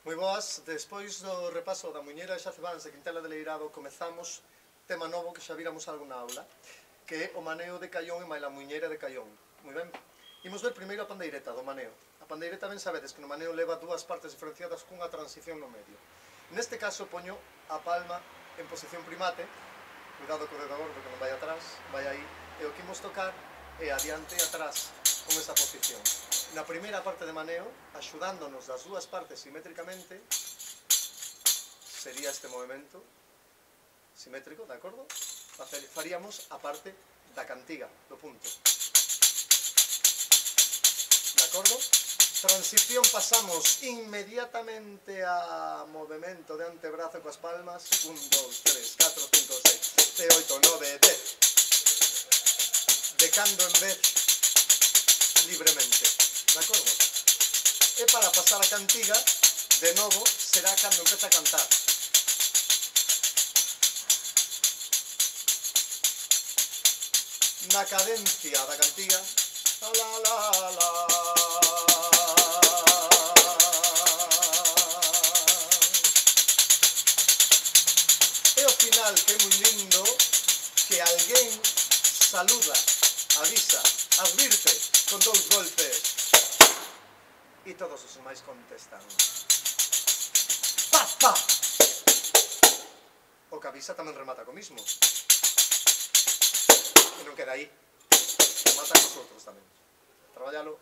Moi boas, despois do repaso da muñeira de Xacebans de Quintela de Leirado comezamos tema novo que xa viramos algo na aula, que é o maneo de caión e maila muñeira de caión. Moi ben. Imos ver primeiro a pandeireta do maneo. A pandeireta ben sabedes que no maneo leva dúas partes diferenciadas cunha transición no medio. Neste caso poño a palma en posición primate, cuidado co dedo gordo que non vai atrás, vai aí, e o que imos tocar é adiante e atrás con esa posición. Na primeira parte de maneo, axudándonos das dúas partes simétricamente, sería este movimento simétrico, de acordo? Faríamos a parte da cantiga, do punto. De acordo? Transición, pasamos inmediatamente a movimento de antebrazo coas palmas. 1, 2, 3, 4, 5, 6, 7, 8, 9, 10. De cando en vez, libremente. De acordo? E para pasar a cantiga, de novo, será cando empeza a cantar. Na cadencia da cantiga, la la la. E ao final, que é moi lindo, que alguén saluda, avisa, advirte con 2 golpes. E todos os máis contestan. Pa, pa! O que avisa tamén remata co mismo. E non queda aí. Remata cos outros tamén. Traballalo.